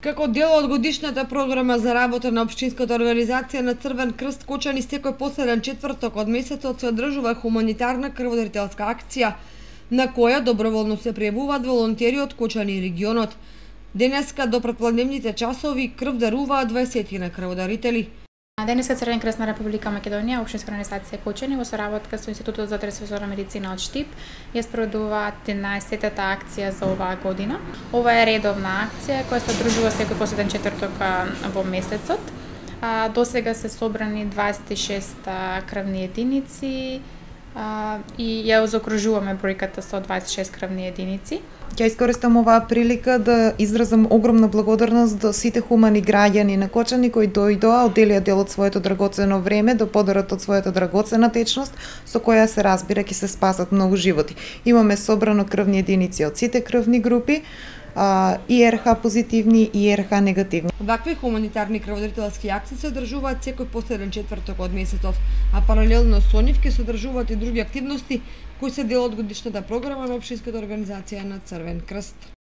Како дел од годишната програма за работа на општинската организација на Црвен крст Кочани секој последен четврток од месецот се одржува хуманитарна крводарителска акција на која доброволно се пријавуваат волонтери од Кочани и регионот. Денеска до претпладневните часови крв даруваат 20 на крводарители. Денеска Црвен крст на Република Македонија, општинска организација Кочани во соработка со Институтот за трансфузорна медицина од Штип ја спроведуваат 11-тата акција за оваа година. Ова е редовна акција која се одржува секој последен четврток во месецот. До сега се собрани 26 крвни единици и ја заокружуваме бројката со 26 крвни единици. Ќе искористам оваа прилика да изразам огромна благодарност до сите хумани граѓани на Кочани кои дојдоа, одделија дел од своето драгоцено време да подарат од својата драгоцена течност со која се разбира ќе се спасат многу животи. Имаме собрано крвни единици од сите крвни групи, и РХ позитивни и РХ негативни. Вакви хуманитарни крводарителски акции се одржуваат секој последен четврток од месецот, а паралелно со нив ќе се одржуваат и други активности кои се дел од годишната програма на општинската организација на Црвен крст.